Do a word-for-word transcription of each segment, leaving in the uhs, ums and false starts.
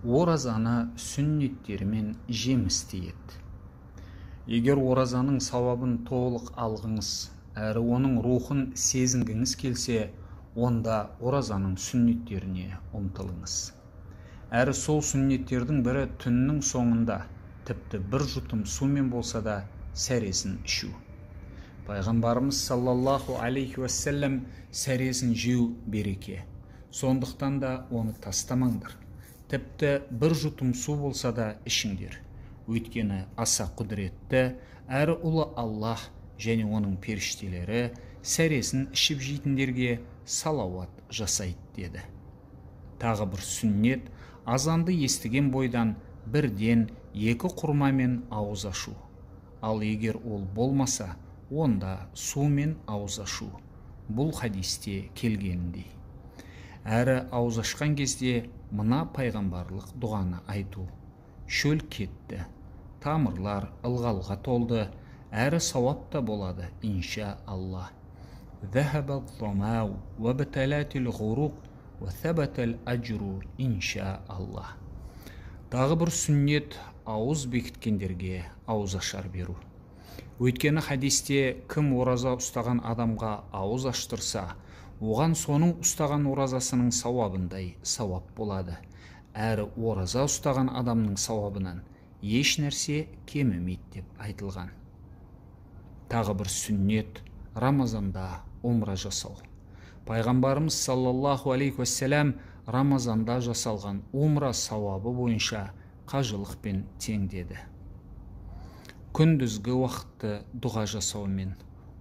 оразаны сүннеттерімен жемісті ет. Егер оразаның сауабын толық алғыңыз, әрі оның рухын сезінгіңіз келсе, онда оразаның сүннеттеріне ұмтылыңыз. Әрі сол сүннеттердің бірі түннің соңында, тіпті бір жұтым сумен болса да, сәресін ішу. Пайғамбарымыз саллаллаху алейхи уассалам сәресін жеу береке. Сондықтан да оны тастамаңдар. Тіпті бір жұтым су болса да ішіңдер. Өйткені аса құдіретті, әрі ұлы Аллах және оның періштелері сәресін ішіп жейтіндерге салауат жасайды деді. Тағы бір сүннет, азанды естіген бойдан бірден екі құрмамен ауыз ашу. Ал егер ол болмаса, онда сумен ауыз ашу. Бұл хадисте келгеніндей. Әрі ауыз ашқан кезде мына пайғамбарлық дұғаны айту. Шөл кетті, тамырлар ылғалға толды, әрі сауап та болады, инша Аллах. ذهب الظمأ وابتلت الغروق وثبت الأجر инша Аллах. Тағы бір сүннет ауыз бекіткендерге ауыз ашар беру. Өйткені хадисте кім ораза ұстаған адамға ауыз аштырса, оған соның ұстаған оразасының сауабындай сауап болады. Әрі ораза ұстаған адамның сауабынан еш нәрсе кемімейді деп айтылған. Тағы бір сүннет Рамазанда умра жасау. Пайғамбарымыз саллаллаху алейхи уассалам Рамазанда жасалған умра сауабы бойынша қажылықпен тең деді. Күндізгі уақытты дұға жасаумен,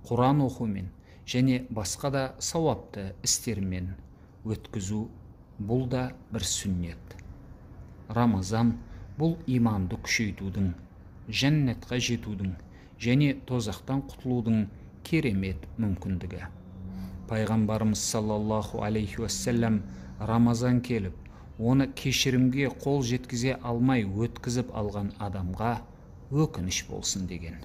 Құран оқумен және басқа да сауапты істермен өткізу, бұл да бір сүннет. Рамазан бұл иманды күшейтудің, жәннатқа жетудің және тозақтан құтылудың керемет мүмкіндігі. Пайғамбарымыз саллаллаху алейхи уассалам Рамазан келіп, оны кешірімге қол жеткізе алмай өткізіп алған адамға өкініш болсын деген.